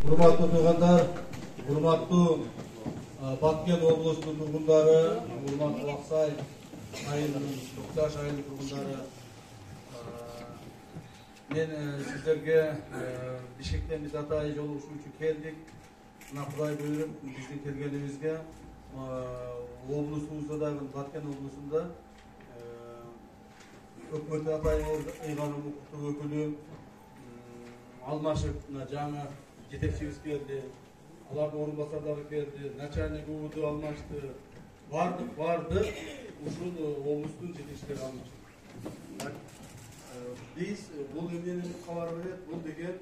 Урматтуу туугандар, урматтуу Баткен облусунун тургундары, урматтуу Аксай айылынын Токташ айылынын тургундары, мен сиздерге Бишкектен биз атайын жолугушуу үчүн келдик. Мына Кудай буйруп биздин келгенибизге облусубузда дагы Баткен облусунда өкмөт атайын ыйгарым укуктук өкүлү алмашып жаңы жетекчибиз келди. Алардын орун басарлары келди, начальник УУД алмашты. Барды ушул облустун жетекчилери алмашты. Биз бул эмнени кабар берет? Бул деген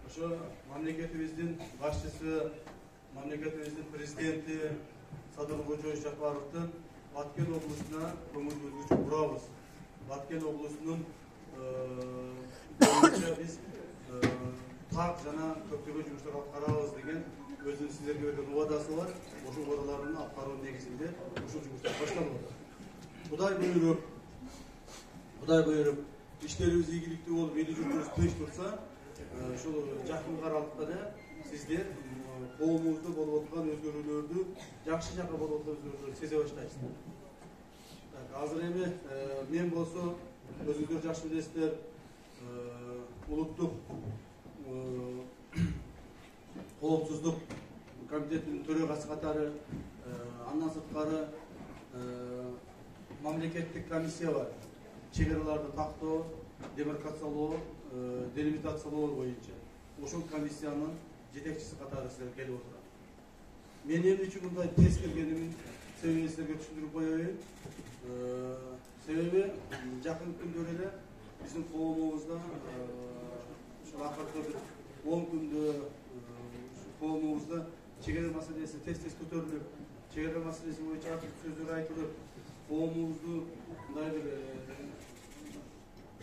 ошо мамлекетибиздин башчысы, мамлекетибиздин президенти Садыр Кожоевич Жапаровдун Баткен облусуна көңүл бөлгүчү бурабыз. Баткен облусунун боюнча биз так жана көптөгөн жумуштар аткарабыз деген өзүнүн сиздерге берген убадасы бар. Ошол убадалардын аткаруу негизинде ушул жумуштар башталып атат. Кудай буйруп иштерибиз ийгиликтүү болуп, эл журтубуз тынч турса, ушул жакын аралыкта да сиздер коомубузда болуп аткан өзгөрүүлөрдү, жакшы жака болуп аткан өзгөрүүлөрдү сезе баштайсыздар. Азыр эми мен болсо өзүңүздөр жакшы билесиздер, улуттук коопсуздук комитетинин төрагасы катары, андан сырткары мамлекеттик комиссия бар. Чек-араларды тактоо, демаркациялоо, делимитациялоо боюнча. Ошол комиссиянын жетекчиси катары сиздер келип отурат. Мен эмне үчүн мындай тез келгенимин себебин сиздерге түшүндүрүп коеюн. Себеби жакын күндөрү эле биздин коомубузда ушул акыркы бир 10 күндө коомубузда чек-ара маселеси тез көтөрүлүп, чек-ара маселеси боюнча сөздөр айтылып, коомубузду мындай бир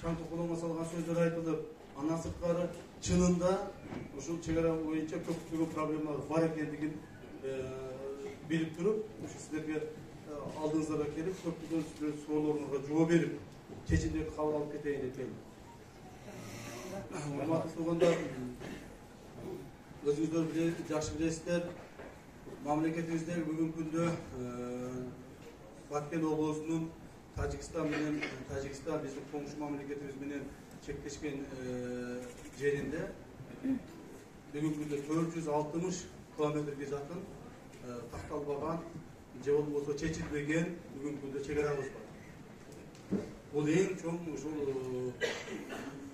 чаң токолоңго салган сөздөр айтылып, андан сырткары чынында ушул чек-ара боюнча көптөгөн проблемалар бар экендигин билип туруп, сиздерге алдыңыздарга келип, көптөгөн суроолоруңузга жооп берип, чечимдерди кабыл алып кетейин деп келдим. Урматтуу туугандар, өзүңүздөр жакшы билесиздер, мамлекетибизде бүгүнкү күндө Баткен облусунун Тажикстан биздин коңшу мамлекетибиз менен чектешкен жеринде бүгүнкү күндө 460 километрге жакын такталбаган же болбосо чечилбеген бүгүнкү күндө чек-арабыз бар. Бул эң чоң ушул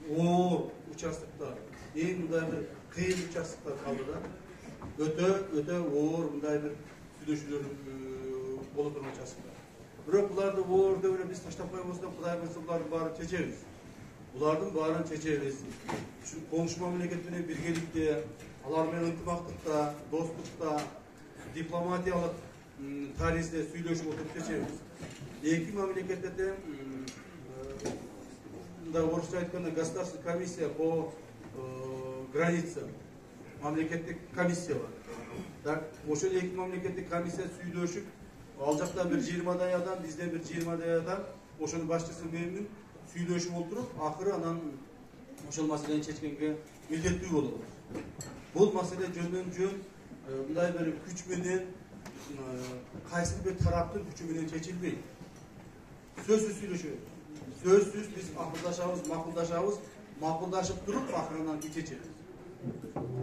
оор участоктор, эң мындай бир кыйын участоктор калды да. Өтө оор мындай бир сүйлөшүүлөр боло турган участоктор. Бирок буларды оор деп эле биз таштап койбостон, Кудай буйрса булардын баарын чечебиз. Булардын баарын чечебиз. Ушул коңшу мамлекет менен биргеликте, алар менен ынтымактыкта, достукта, дипломатиялык таризде сүйлөшүп отуруп чечебиз. Эки мамлекетте тең мындай орусча айтканда государственная комиссия по границам, мамлекеттик комиссия бар. Так, ошол эки мамлекеттик комиссия сүйлөшүп, ал жакта бир 20дай адам, бизде бир 20дай адам, ошонун башчысы менен сүйлөшүп отуруп, акыры анан ошол маселени чечкенге милдеттүү болобуз. Бул маселе жөндөн-жөн мындай бир күч менен, кайсы бир тараптын күчү менен чечилбейт. Сөзсүз сүйлөшөбүз. Сөзсүз биз макулдашабыз, макулдашып туруп акырынан чечебиз.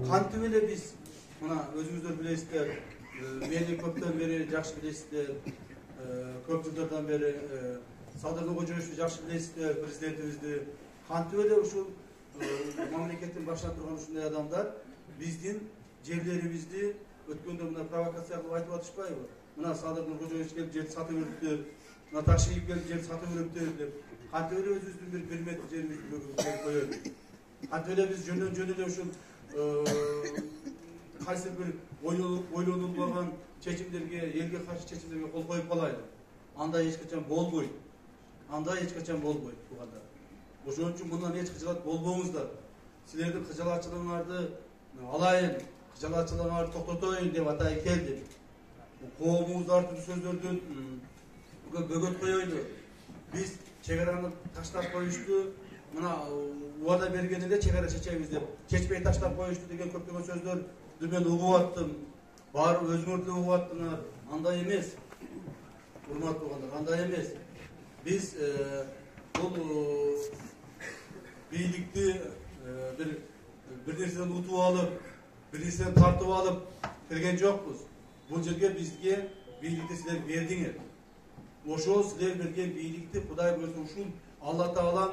Кантип эле биз, мына өзүңүздөр билесиздер, мени көптөн бери жакшы билесиздер, көп жылдардан бери Садыр Кожоевичти жакшы билесиздер, президентибизди. Кантип эле ушул мамлекеттин башында турган ушундай адамдар биздин жерлерибизди өткөндө мына провокация кылып айтып атышпайбы? Мына Садыр Кожоевич келип жерди сатып бериптир, мына Ташиев келип жерди сатып бериптир деп. Кантип эле өзүбүздүн бир метр жерибизди бөлүп коебуз? Кантип эле биз жөн эле ушул кайсы бир ойлонулбаган чечимдерге, элге каршы чечимдерге кол коюп калайлы? Андай эч качан болбойт. Туугандар. Ошон үчүн мындан эч кыжалат болбоңуздар. Силердин кыжалатчылыгыңарды алайын, кыжалатчылыгыңарды токтотоюн деп атайын келдим. Коомубузду ар түрдүү сөздөрдөн бөгөт коелу. Биз чек-араны таштап коюшту, мына убада бергенде чек-ара чечебиз деп, чечпей таштап коюшту деген көптөгөн сөздөрдү мен угуп аттым. Барып өзүңөр да угуп аттыңар. Андай эмес. Урматтуу туугандар, андай эмес. Биз бул бийликти bir нерседен утуп алып, bir нерседен тартып алып кирген жокпуз. Бул жерге бизге бийликти силер бердиңер. Ошол силер берген бийликти Кудай буюрса ушул Алла Таалам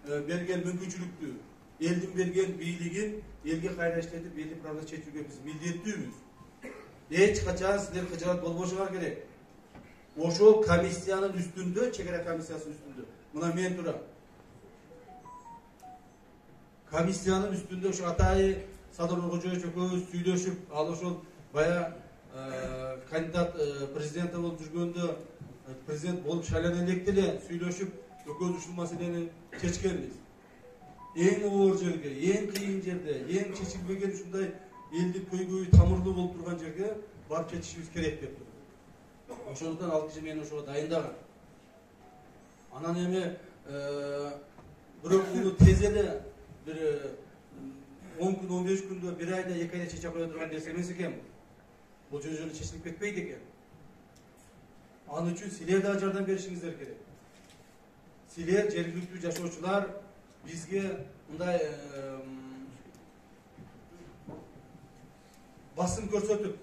берген мүмкүнчүлүктү, элдин берген бийлигин элге кайра иштетип, элдин проблемасын чечүүгө биз милдеттүүбүз. Эч качан силер кыжырат болбошуңар керек. Ошол комиссиянын үстүндө, чек ара комиссиясынын үстүндө, мына мен турам. Комиссиянын үстүндө ушу атайы Садыр Кожоевич экөөбүз сүйлөшүп, ал ошол бая кандидат президент болуп жүргөндө, президент болуп шайлана электе эле сүйлөшүп, экөөбүз ушул маселени чечкенбиз. Эң оор жерге, эң кыйын жерде, эң чечилбеген ушундай элдин көйгөйү тамырлуу болуп турган жерге барып чечишибиз керек деп турду. Ошондуктан ал киши мени ошого дайындаган. Анан эми бирок муну тез эле bir 10 gün, 15 günde, bir ayda, 2 ayda çeçe koya durgan nерсе эмес экен. Бул жөнүндө чечилип кетпейт экен. Анын үчүн силер да жардам беришиңиздер керек. Силер жергиликтүү жашоочулар бизге мындай басым көрсөтүп,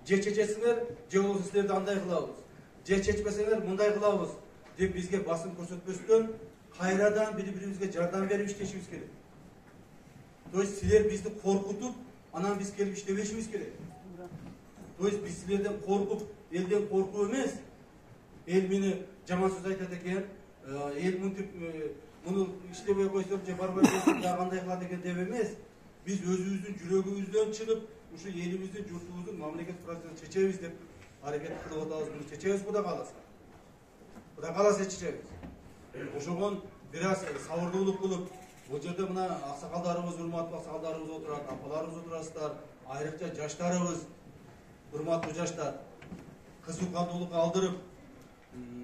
же чечесиңер, же болбосо силерди андай кылабыз, же чечпесеңер мындай кылабыз деп бизге басым көрсөтпөстөн кайрадан бири-бирибизге жардам берип иштешибиз керек. То есть силер бизди коркутуп, анан биз келип иштебешибиз керек. То есть биз силерден коркуп, элден коркуп эмес, эл мени жаман сөз айтат экен, эл мынтип муну иштебей койсом же барбай койсом да кандай кылат экен деп эмес, биз өзүбүздүн жүрөгүбүздөн чыгып, ушу элибиздин, журтубуздун мамлекет процессин чечебиз деп аракет кылып атабыз. Муну чечебиз Кудай кааласа. Кудай кааласа чечебиз. Ошогон бир аз сабырдуулук кылып, бул жерде мына аксакалдарыбыз, урматтуу аксакалдарыбыз отурат, апаларыбыз отурасыздар, айрыкча жаштарыбыз, урматтуу жаштар, кызыкандуулукка алдырып,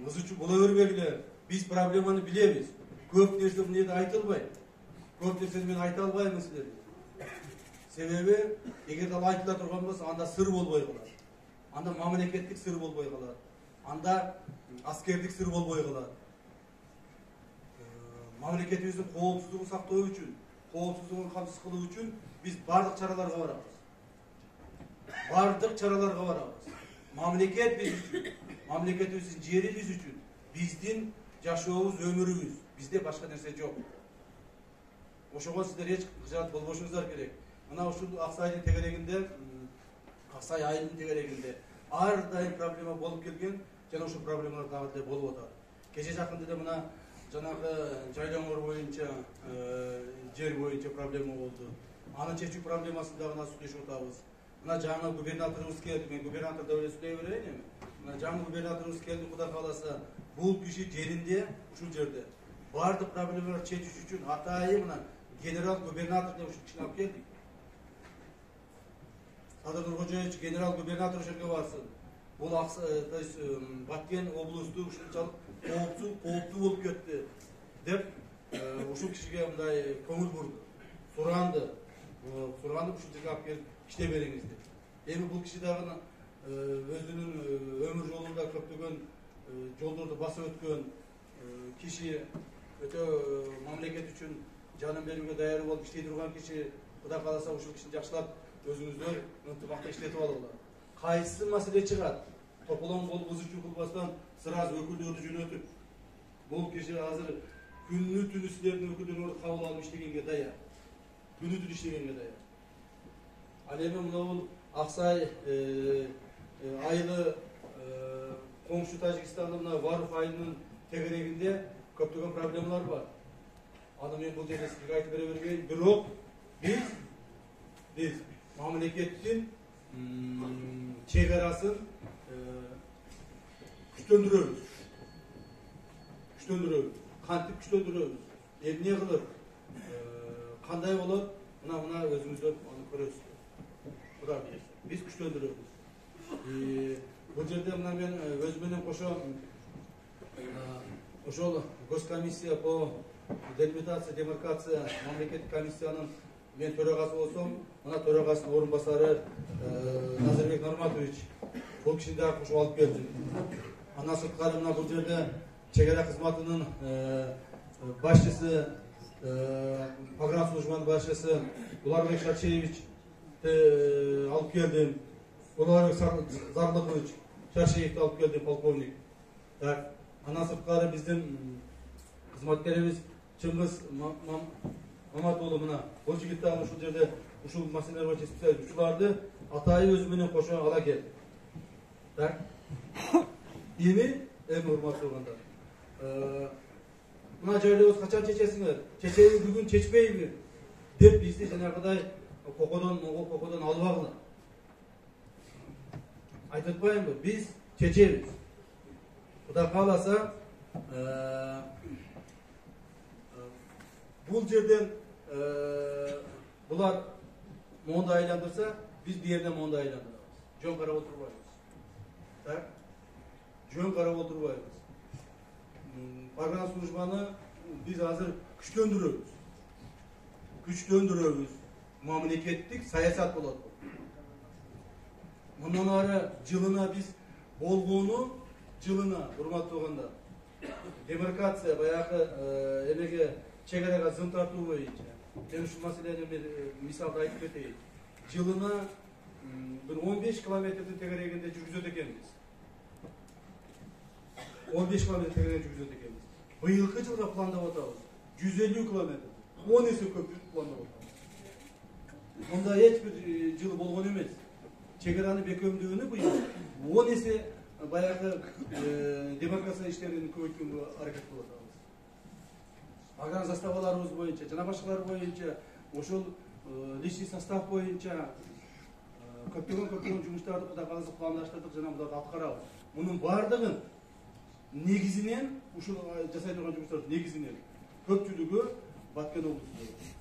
ызычуу боло бербегиле. Биз проблеманы билебиз. Көп нерсе мына жерде айтылбайт. Көп нерсени мен айта албайм силерге. Себеби, эгерде ал айтыла турган болсо, анда сыр болбой калат. Анда мамлекеттик сыр болбой калат. Анда аскердик сыр болбой калат. Мамлекетибиздин коопсуздугун сактоо үчүн, коопсуздугун камсыз кылуу үчүн биз бардык чараларга барабыз. Мамлекет биз үчүн, мамлекетибиздин жери биз үчүн, биздин жашообуз, өмүрүбүз, бизде башка нерсе жок. Ошого сиздер эч кыжаат болбошуңуздар керек. Мына ушул Аксайдын тегерегинде, Аксай айылдын тегерегинде ар дайым проблема болуп келген, жана ушул проблемалар дагы деле болуп атат. Кече жакында деле мына жанагы жайлоңор боюнча, жер боюнча проблема болду. Аны чечүү проблемасын дагы сүйлөшүп атабыз. Мына жаңы губернаторубуз келди, мен губернатор деп эле сүйлөй берейин эми. Мына жаңы губернаторубуз келди, Кудай кааласа, бул киши жеринде, ушул жерде бардык проблемаларды чечиш үчүн атайын мына генерал губернатор деп ушул кишини алып келдик. Садыр Кожоевич генерал губернатор ошол жерге барсын. Бул то есть Баткен облусту ушунчалык кооптуу болуп кетти деп ушул кишиге мындай көңүл бурду. Суранды ушул жерге алып келип иште бериңиз деп. Эми бул киши дагы өзүнүн өмүр жолунда көптөгөн жолдорду басып өткөн киши, өтө мамлекет үчүн жанын берүүгө даяр болуп иштей турган киши. Кудай кааласа ушул кишини жакшылап өзүңүздөр ынтымакта иштетип алыңыздар. Кайсы маселе чыгат? Тополоң болуп ызычуу кылбастан сразу өкүлдөрдү жөнөтүп, бул киши азыр күнү түнү силердин өкүлдөрүңөрдү кабыл алып иштегенге даяр. Күнү түнү иштегенге даяр. Ал эми мына бул Аксай айылы коңшу Тажикстандын мына Варф айылынын тегерегинде көптөгөн проблемалар бар. Аны мен бул жерде сизге айтып бере бербейм, бирок биз мамлекеттин чек арасын күчтөндүрөбүз. Кантип күчтөндүрөбүз? Эмне кылып? Кандай болот? Мына өзүңүздөр аны көрөсүздөр. Кудай буйрса, биз күчтөндүрөбүз. Бул жерде мына мен өз менен кошо ошол госкомиссия по делимитация, демаркация мамлекеттик комиссиянын мен төрагасы болсом, мына төрагасынын орун басары Назарбек Нурматович бул кишини дагы кошуп алып келдим. Андан сырткары мына бул жерде чек ара кызматынын башчысы, погранслужбанын башчысы Буларбек Шаршеевич алып келдим. Буларбек Зарлыкович Шаршеевди алып келдим, полковник. Так, андан сырткары биздин кызматкерибиз Чыңгыз Маматуулу мына бул жигит дагы ушул жерде ушул маселелер боюнча специалист. Ушуларды атайы өзү менен кошо ала келди. Так. Эми урматтуу кандыктар. Мына жайлообуз качан чечесиңер? Чечейби бүгүн, чечпейби? Деп бизди жанагыдай кокодон албагыла. Айтып атпаймынбы? Биз чечебиз. Кудай кааласа, бул жерден булар моунду айландырса, биз бу жерден моунду айландырабыз. Жөн карап отурбайбыз. Так? Жөн карап отурбайбыз. Погранслужбаны биз азыр күчтөндүрөбүз. Мамлекеттик саясат болот. Мындан ары жылына биз болгону жылына урматтуу кандыктар. Демаркация баягы эмеге чек арага зын тартуу боюнча. Мен ушул маселени мисалда айтып кетейин. Жылына бир 15 километрдин тегерегинде жүргүзөт экенбиз. 15 километр тегерегинде жүргүзөт экенбиз. Быйылкы жылга пландап атабыз. 150 километр. 10 эсе көп пландап атабыз. Мында эч бир жыл болгон эмес. Чек араны бекемдүүнү быйыл 10 эсе баягы демаркация иштерин көбөйткөнгө аракет кылып атабыз. Аган заставаларыбыз боюнча, жана башкалар боюнча, ошол личный состав боюнча көптөгөн жумуштарды Кудай кааласа пландаштырдык, жана буларды аткарабыз. Мунун бардыгын негизинен ушул жасай турган жумуштардын негизинен көпчүлүгү Баткен облусунда.